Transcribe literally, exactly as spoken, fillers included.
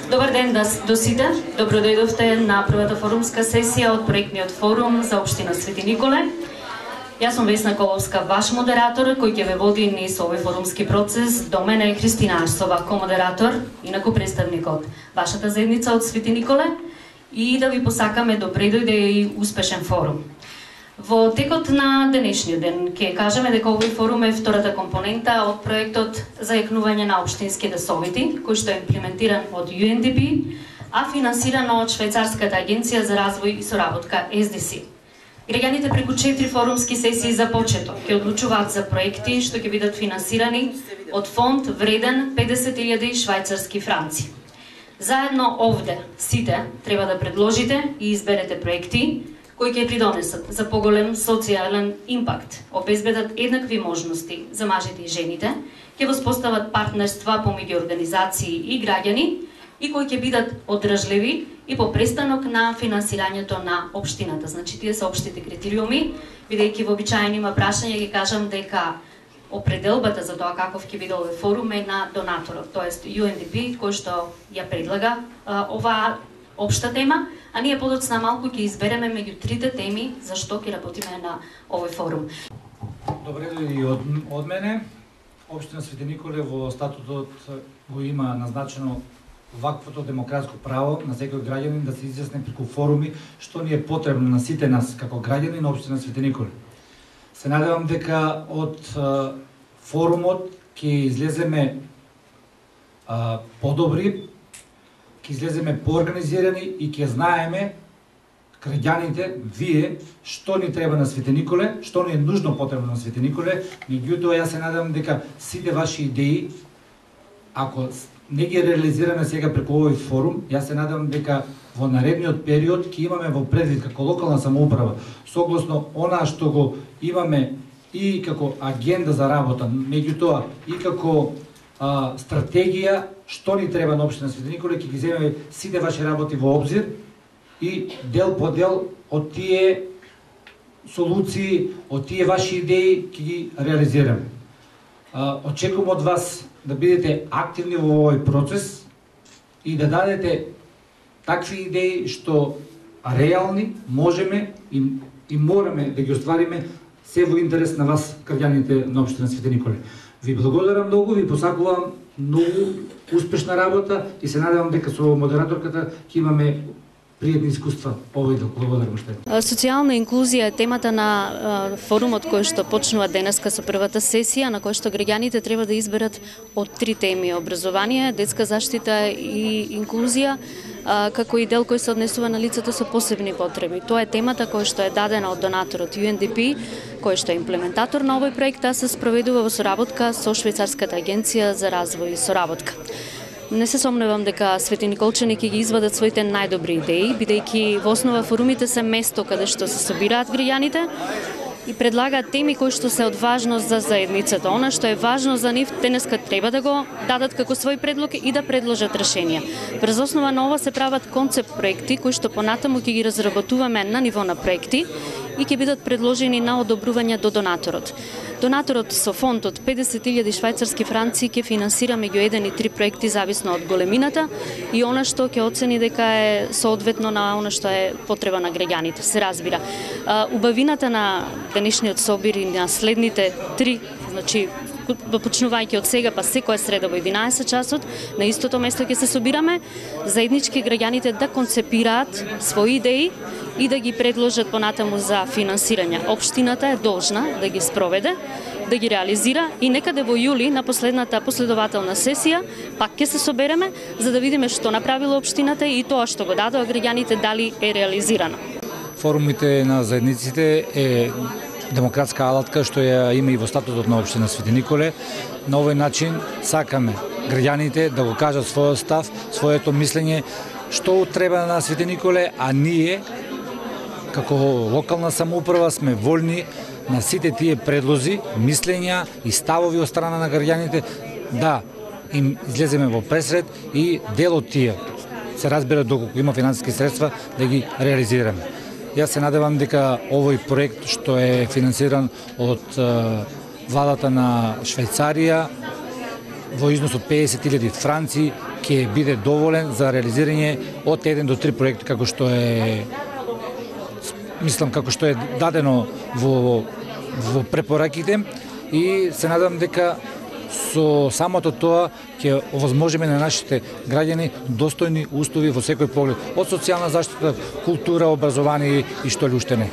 Добар ден до сите. Добро дојдовте на првата форумска сесија од проектниот форум за општина Свети Николе. Јас сум Весна Коловска, ваш модератор, кој ќе ве води низ овој форумски процес. До мене е Христина Арсова, комодератор, инаку представник од вашата заедница од Свети Николе, и да ви посакаме добре дојде и успешен форум. Во текот на денешниот ден ќе кажеме дека овој форум е втората компонента од проектот за јакнување на општинските совети, кој што е имплементиран од Ю Ен Ди Пи, а финансирано од Швајцарската агенција за развој и соработка Ес Ди Си. Граѓаните преку четири форумски сесии за почеток ќе одлучуваат за проекти што ќе бидат финансирани од фонд вреден педесет илјади швајцарски франци. Заедно овде сите треба да предложите и изберете проекти кои ќе придонесат за поголем социјален импакт, обезбедат еднакви можности за мажите и жените, ќе воспостават партнерства помеѓу организации и граѓани и кои ќе бидат одржливи и по престанок на финансирањето на општината. Значи, тие се општите критериуми, бидејќи вообичаено прашање ги кажам дека определбата за тоа каков ќе биде овој форум е на донаторот, тоест Ю Ен Ди Пи, кој што ја предлага а, оваа општа тема, а ние подоцна малку ќе избереме меѓу трите теми за што ќе работиме на овој форум. Добре дојди од, од мене. Општина Свети Николе во статутот го има назначено ваквото демократско право на секој граѓанин да се изјасни преку форуми што ни е потребно на сите нас како граѓани на општина Свети Николе. Се надевам дека од а, форумот ќе излеземе а, подобри, ќе излеземе поорганизирани и ќе знаеме граѓаните, вие, што ни треба на Свети Николе, што ни е нужно потребно на Свети Николе. Меѓутоа, јас се надевам дека сите ваши идеи, ако не ги реализираме сега преку овој форум, јас се надевам дека во наредниот период ќе имаме во предвид како локална самоуправа, согласно она што го имаме и како агенда за работа, меѓутоа и како а, стратегија што ни треба на општина Свети Николе, ќе ги земеме сите ваши работи во обзир и дел по дел од тие солуции, од тие ваши идеи ќе ги реализираме. А, очекувам од вас да бидете активни во овој процес и да дадете такви идеи што реални можеме и, и мораме да ги оствариме се во интерес на вас, граѓаните на општина Свети Николе. Ви благодарам многу, ви посакувам многу успешна работа и се надевам дека со модераторката ќе имаме пријатни искуства овој дел. Благодарам уште. Социјална инклузија е темата на форумот кој што почнува денеска со првата сесија, на кој што граѓаните треба да изберат од три теми: образование, детска заштита и инклузија, како и дел кој се однесува на лицата со посебни потреби. Тоа е темата која што е дадена од донаторот Ю Ен Ди Пи, кој што е имплементатор на овој проект, а се спроведува во соработка со Швајцарската агенција за развој и соработка. Не се сомневам дека Свети Николчани ќе ги извадат своите најдобри идеи, бидејќи во основа форумите се место каде што се собираат граѓаните и предлагаат теми кои што се од важност за заедницата. Она што е важно за нив, денеска треба да го дадат како свој предлог и да предложат решенија. Врз основа на ова се прават концепт проекти кои што понатаму ќе ги разработуваме на ниво на проекти и ќе бидат предложени на одобрување до донаторот. Донаторот со фонд од педесет илјади швајцарски франци ќе финансира меѓу еден и три проекти зависно од големината и она што ќе оцени дека е соодветно на она што е потреба на граѓаните, се разбира. Убавината на денешниот собир и на следните три, значи почнувајќи од сега па секоја среда во единаесет часот, на истото место ќе се собираме, заеднички граѓаните да концепираат своји идеи и да ги предложат понатаму за финансирање. Општината е должна да ги спроведе, да ги реализира и некаде во јули на последната последователна сесија пак ќе се собереме за да видиме што направила општината и тоа што го дадоа граѓаните дали е реализирано. Форумите на заедниците е демократска алатка што ја има и во статутот на општина Свети Николе. На овој начин сакаме граѓаните да го кажат својот став, своето мислење, што треба на Свети Николе, а ние како локална самоуправа сме воljни на сите тие предлози, мислења и ставови од страна на граѓаните да им излеземе во пресред и дел од тие, се разбира доколку има финансиски средства, да ги реализираме. Јас се надевам дека овој проект што е финансиран од владата на Швајцарија во износ од педесет илјади франци ќе биде доволен за реализирање од еден до три проекти како што е мислам како што е дадено во во препораките и се надам дека со самото тоа ќе овозможиме на нашите граѓани достојни услови во секој поглед, од социјална заштита, култура, образование и што ли уште не.